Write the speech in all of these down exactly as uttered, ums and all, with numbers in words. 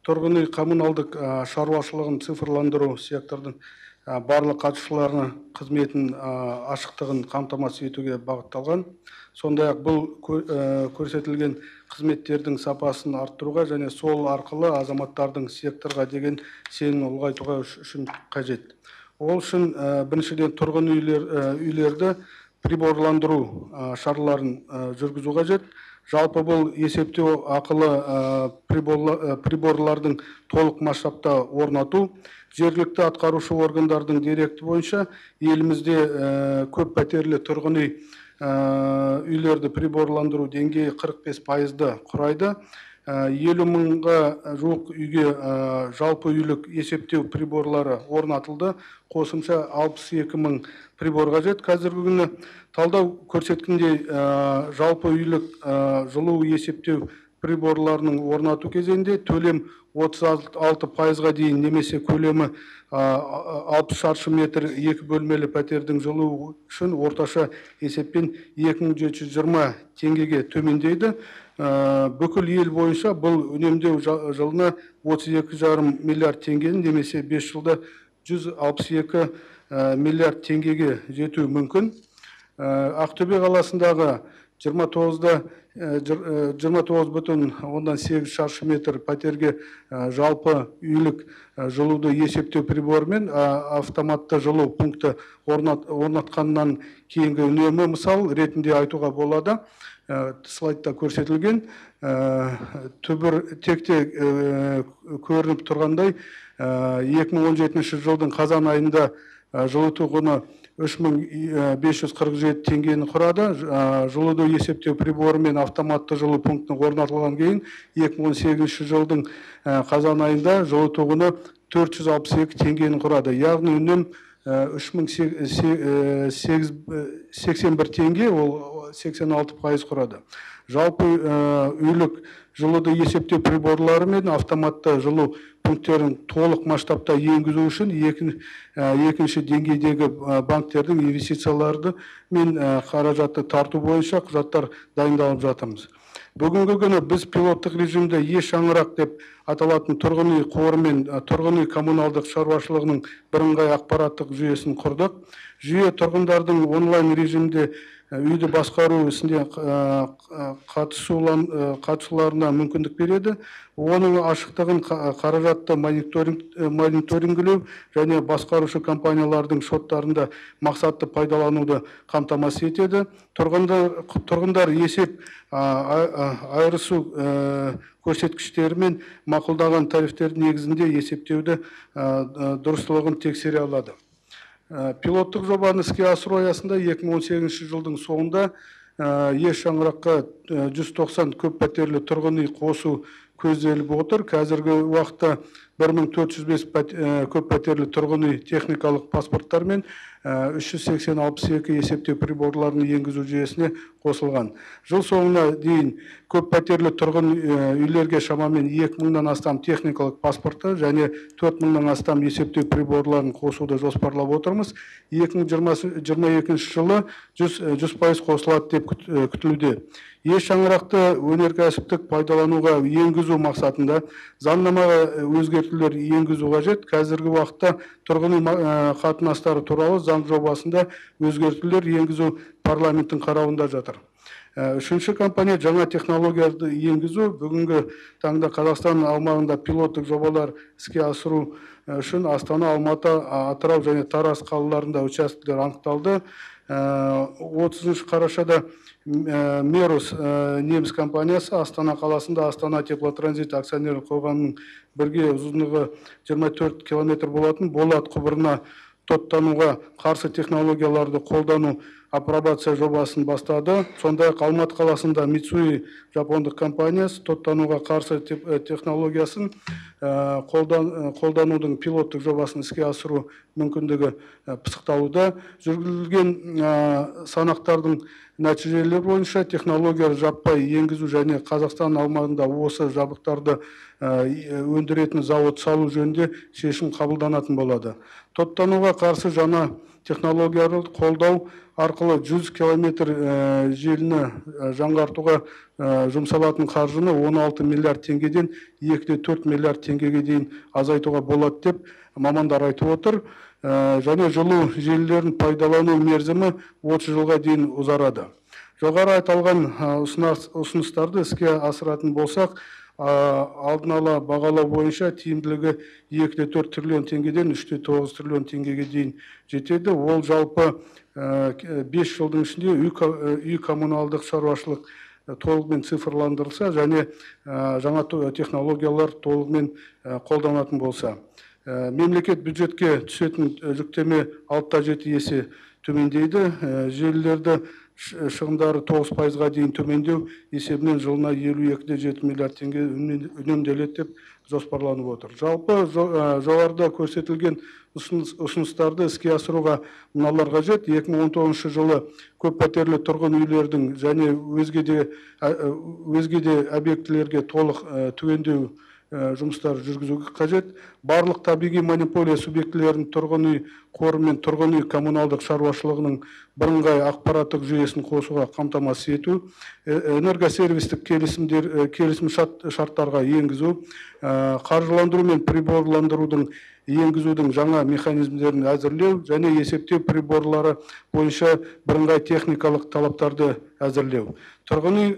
тұрғын үй коммуналдық шаруашылығын цифрландыру сектордың барлық қатысушыларына қызметін ашықтығын қамтамасыз етуге бағытталған. Сондай-ақ бұл көрсетілген қызметтердің сапасын арттыруға және сол арқылы азаматтардың секторға деген сенімін ұлғайтуға үшін қажет. Ол үшін біріншіден тұрғын үйлерді приборландыру шараларын жүргізу қажет. Жалпы бұл есептеу ақылы приборлардың толық масштабта орнату, жергілікті атқарушы органдардың деректі бойынша елімізде көп пәтерлі тұрғын үй үйлерді приборландыру деңгейі қырық бес пайызды құрайды. елу мыңға жуық үйге жалпы үйлік есептеу приборлары орнатылды. Қосымша алпыс екі мың прибор қажет. Қазіргі күні талдау көрсеткендей жалпы үйлік жылу есептеу приборларының орнату кезеңінде төлем отыз алты пайызға дейін немесе көлемі алпыс шаршы метр екі бөлмелі пәтердің жылуы үшін орташа есеппен екі мың жеті жүз жиырма теңгеге төмендейді. Бүкіл ел бойынша бұл үнемдеу жылына отыз екі жарым миллиард теңгені немесе бес жылда жүз алпыс екі миллиард теңгеге жетуі мүмкін. Ақтөбе қаласындағы жиырма тоғыз бүтін оннан сегіз шаршы метр пәтерге жалпы үйлік жылуды есептеу приборымен автоматты жылу пункті орнатқаннан кейінгі үнемі мысал ретінде айтуға болады. Слайдта көрсетілген түбір текте көрініп тұрғандай екі мың он жетінші жылдың қазан айында жылыту құны үш мың бес жүз қырық жеті теңгені құрады. Жылуды есептеу приборы мен автоматты жылу пунктінің орнатылған кейін екі мың он сегізінші жылдың қазан айында жылыту құны төрт жүз алпыс екі теңгені құрады. Яғни үнем үш мың сексен бір теңге, ол сексен алты пайыз құрады. Жалпы үйлік жылуды есептеу приборлары мен автоматты жылу пункттерін толық масштабта енгізу үшін екінші деңгейдегі банктердің инвестицияларды мен қаражатты тарту бойынша құжаттар дайындалып жатырмыз. Бүгінгі күні біз пилоттық режимде Е шаңырақ деп аталатын тұрғын үй қоры мен тұрғын үй коммуналдық шаруашылығының бірыңғай ақпараттық жүйесін құрдық. Жүйе тұрғындардың онлайн режимде үйді басқару ісінде қатысуларына мүмкіндік береді. Оның ашықтығын қаражатты мониторингілеу және басқарушы компаниялардың шоттарында мақсатты пайдалануды қамтамасыз етеді. Тұрғындар есеп айырысу көрсеткіштері мен мақұлдаған тарифтердің негізінде есептеуді дұрыстылығын тексере алады. Пилоттық жобаны іске асыру аясында екі мың он сегізінші жылдың соңында Е шаңыраққа жүз тоқсан көп пәтерлі тұрғын үй қосу көзделіп отыр. Қазіргі уақытта бір мың төрт жүз бес көп пәтерлі тұрғын үй техникалық паспорттар мен үш жүз сексен алпыс екі есептеу приборларын енгізу жүйесіне қосылған. Жыл соңына дейін көп пәтерлі тұрғын үйлерге шамамен екі мыңнан астам техникалық паспорты және төрт мыңнан астам есептеу приборларын қосуды жоспарлап отырмыз. екі мың жиырма екінші жылы жүз пайыз қосылады деп күтілуде. Е шаңырақты өнеркәсіптік пайдалануға енгізу мақсатында заңнамаға өзгертулер енгізу қажет. Қазіргі уақытта тұрғын үй қатынастары туралы заң жобасында өзгертулер енгізу парламенттің қарауында жатыр. Үшінші компания жаңа технологияларды енгізу. Бүгінгі таңда Қазақстан аумағында пилоттық жобалар іске асыру үшін Астана, Алматы, Атырау және Тараз қалаларында учаскелер анықталды. отызыншы қарашада Мерус неміс компаниясы Астана қаласында Астана теплотранзит акционерлік қоғамының бірге ұзындығы жиырма төрт километр болатын болат құбырына тоттануға қарсы технологияларды қолдану апробация жобасын бастады. Сондай-ақ Алматы қаласында Мицуи жапондық компаниясы тоттануға қарсы технологиясын қолданудың пилоттық жобасын іске асыру мүмкіндігі пысықталуда. Жүргізілген санақтардың нәтижелері бойынша технология жаппай енгізу және Қазақстан аумағында осы жабдықтарды өндіретін зауыт салу жөнінде шешім қабылданатын болады. Тоттануға қарсы жаңа технологияларды қолдау арқылы жүз километр желіні жаңғартуға жұмсалатын қаржыны он алты миллиард теңгеден екі де төрт миллиард теңгеге дейін азайтуға болады деп мамандар айтып отыр. Және жылу желілерін пайдалану мерзімі отыз жылға дейін ұзарады. Жоғары айтылған ұсыныстарды іске асыратын болсақ, алдын ала бағалау бойынша тиімділігі екі де төрт триллион теңгеден үш те тоғыз триллион теңгеге дейін жетеді. Ол жалпы бес жылдың ішінде үй коммуналдық шаруашылық толығымен цифрландырылса және жаңа технологиялар толығымен қолданатын болса. Мемлекет бюджетке түсетін жүктеме алты да жеті есе төмендейді. Желілерді шығындары тоғыз пайызға дейін төмендеу есебінен жылына елу екі де жеті миллиард теңге үнемделеді деп жоспарланып отыр. Жалпы жоғарыда көрсетілген ұсыныстарды іске асыруға мыналар қажет. екі мың он тоғызыншы жылы көп пәтерлі тұрғын үйлердің және өзге де өзге де объектілерге толық түгендеу жұмыстар жүргізуге қажет. Барлық табиғи монополия субъектілерінің тұрғын үй қоры мен тұрғын үй коммуналдық шаруашылығының бірыңғай ақпараттық жүйесін қосуға қамтамасыз ету, энергосервистік келісім шарттарға енгізу, қаржыландыру мен приборландырудың енгізудің жаңа механизмдерін әзірлеу және есептеу приборлары бойынша бірыңғай техникалық талаптарды әзірлеу. Тұрғын үй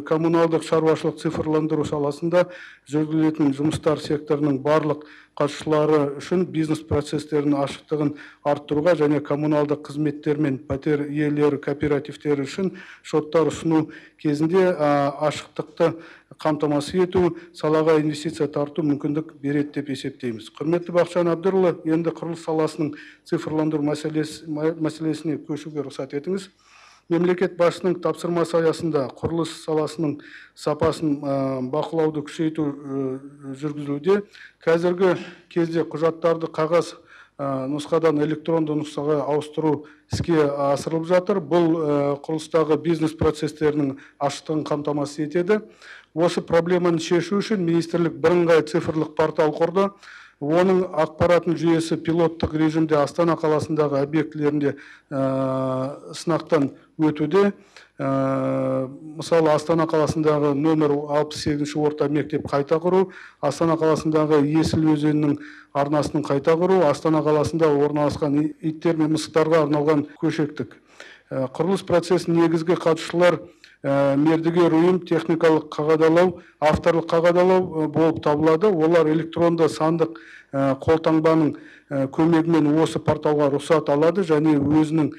коммуналдық шаруашылық цифрландыру саласында жүргізілетін жұмыстар секторының барлық қатысушылары үшін бизнес процестерінің ашықтығын арттыруға және коммуналдық қызметтер мен пәтер иелері кооперативтері үшін шоттар ұсыну кезінде ашықтықты қамтамасыз ету, салаға инвестиция тарту мүмкіндік береді деп есептейміз. Құрметті Бақытжан Әбдірұлы, енді құрылыс саласының цифрландыру мәселесіне көшуге рұқсат етіңіз. Мемлекет басшысының тапсырмасы аясында құрылыс саласының сапасын бақылауды күшейту жүргізілуде. Қазіргі кезде құжаттарды қағаз нұсқадан электронды нұсқаға ауыстыру іске асырылып жатыр. Бұл құрылыстағы бизнес процестерінің ашықтығын қамтамасыз етеді. Осы проблеманы шешу үшін министрлік бірыңғай цифрлық портал құрды. Оның ақпаратын жүйесі пилоттық режимде Астана қаласындағы объектілерінде сынақтан өтуде. Мысалы, Астана қаласындағы нөмір алпыс сегізінші орта мектеп қайта құру, Астана қаласындағы Есіл өзенінің арнасының қайта құру, Астана қаласында орналасқан иттер мен мысықтарға арналған көшеттік. Құрылыс процесінің негізгі қатысушылар мердігер ұйым, техникалық қағидалау, авторлық қағидалау болып табылады. Олар электронды сандық қолтаңбаның көмегімен осы порталға рұқсат алады және өзінің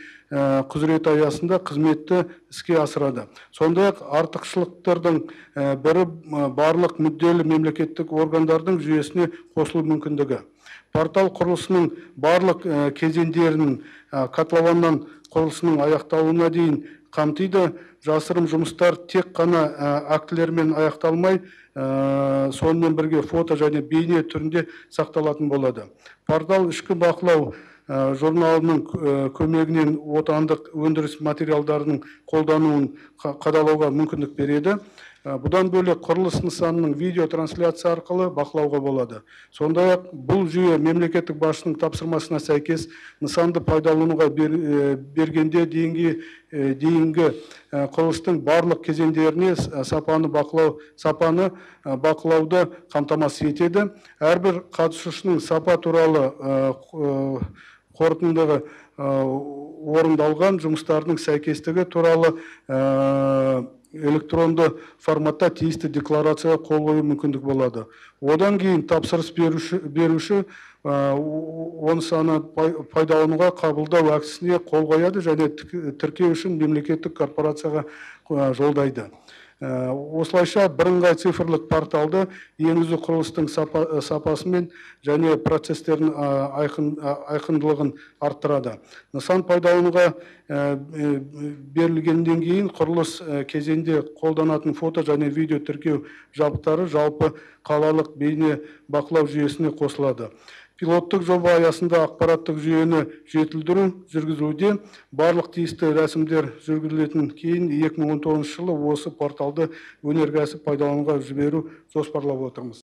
құзырет аясында қызметті іске асырады. Сондай-ақ артықшылықтардың бірі барлық мүдделі мемлекеттік органдардың жүйесіне қосылу мүмкіндігі. Портал құрылысының барлық кезеңдерінің котлованнан құрылысының аяқталуына дейін қамтиды. Жасырым жұмыстар тек қана актілермен аяқталмай, сонымен бірге фото және бейне түрінде сақталатын болады. Портал ішкі бақылау журналының көмегінен отандық өндіріс материалдарының қолдануын қадағалауға мүмкіндік береді. Бұдан бөлек құрылыс нысанының видео трансляция арқылы бақылауға болады. Сондай-ақ бұл жүйе мемлекеттік басшының тапсырмасына сәйкес нысанды пайдалануға бергенде дейінгі құрылыстың барлық кезеңдеріне сапаны бақылау, сапаны бақылауды қамтамасыз етеді. Әрбір қатысушының сапа туралы қорытындығы орындалған жұмыстардың сәйкестігі туралы электронды форматта тиісті декларацияға қол қою мүмкіндік болады. Одан кейін тапсырыс беруші оны саны пайдалануға қабылдау актісіне қол қояды және тіркеу үшін мемлекеттік корпорацияға жолдайды. Осылайша бірыңғай цифрлық порталды енгізу құрылыстың сапасымен және процестердің айқындылығын арттырады. Нысан пайдалануға берілгеннен кейін құрылыс кезеңде қолданатын фото және видео тіркеу жабдықтары жалпы қалалық бейне бақылау жүйесіне қосылады. Пилоттық жоба аясында ақпараттық жүйені жетілдіру жүргізілуде. Барлық тиісті рәсімдер жүргізілетін кейін екі мың он тоғызыншы жылы осы порталды өнеркәсіп пайдалануға жіберу жоспарлап отырмыз.